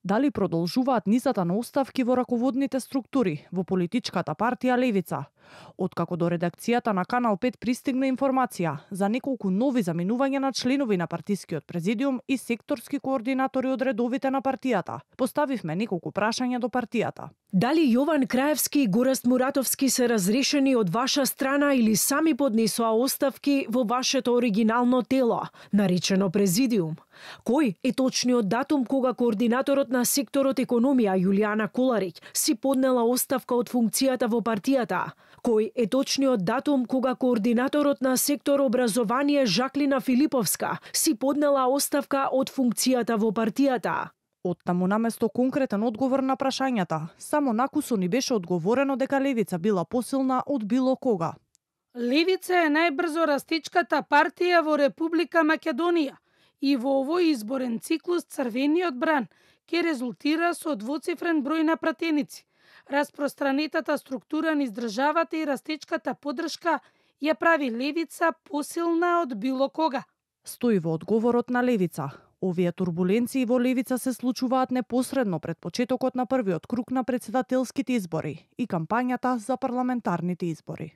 Дали продолжуваат низата на оставки во раководните структури во политичката партија Левица? Откако до редакцијата на Канал 5 пристигна информација за неколку нови заминувања на членови на партискиот президиум и секторски координатори од редовите на партијата, поставивме неколку прашања до партијата. Дали Јован Краевски и Гораст Муратовски се разрешени од ваша страна или сами поднесоа оставки во вашето оригинално тело, наречено президиум? Кој е точниот датум кога координаторот на секторот економија Јулијана Колариќ си поднела оставка од функцијата во партијата? Кој е точниот датум кога координаторот на сектор образование Жаклина Филиповска си поднела оставка од функцијата во партијата? Оттаму наместо конкретен одговор на прашањата, само накусо ни беше одговорено дека Левица била посилна од било кога. Левица е најбрзо растичката партија во Република Македонија и во овој изборен циклус црвениот бран ќе резултира со двоцифрен број на пратеници. Распространетата структура низ државата и растечката поддршка ја прави Левица посилна од било кога. Стои во одговорот на Левица. Овие турбуленции во Левица се случуваат непосредно пред почетокот на првиот круг на претседателските избори и кампањата за парламентарните избори.